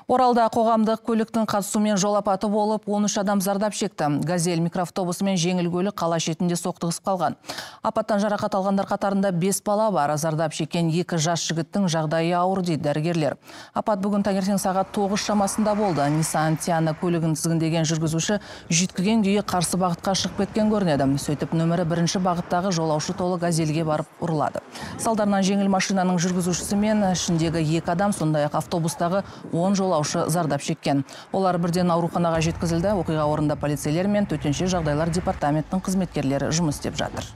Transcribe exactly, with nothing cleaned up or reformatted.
Оралда қоғамдық көліктің қатысуымен жол апаты болып, он үш адам зардап шекті. Газель микроавтобусы мен жеңіл көлік қала шетінде соқтығысып қалған. Апаттан жарақат алғандар қатарында бес бала бар. Зардап шеккен екі жас жігіттің жағдайы ауыр дейді дәрігерлер. Апат бүгін таңертең сағат тоғыз шамасында болды. Nissan Tiana көлігін тізгіндеген жүргізуші жүйткіген күйі қарсы бағытқа шығып кеткен көрінеді. Сөйтіп нөмірі бірінші бағыттағы жолаушы толы газельге барып ұрылады. Салдарынан жеңіл машинаның жүргізушісі мен ішіндегі екі адам, сондай-ақ автобустағы он жолаушы зардап шеккен. Олар бірден ауруханаға жеткізілді. Оқиға орнында полицейлер мен төтенше жағдайлар департаментінің қызметкерлері жұмыс істеп жатыр.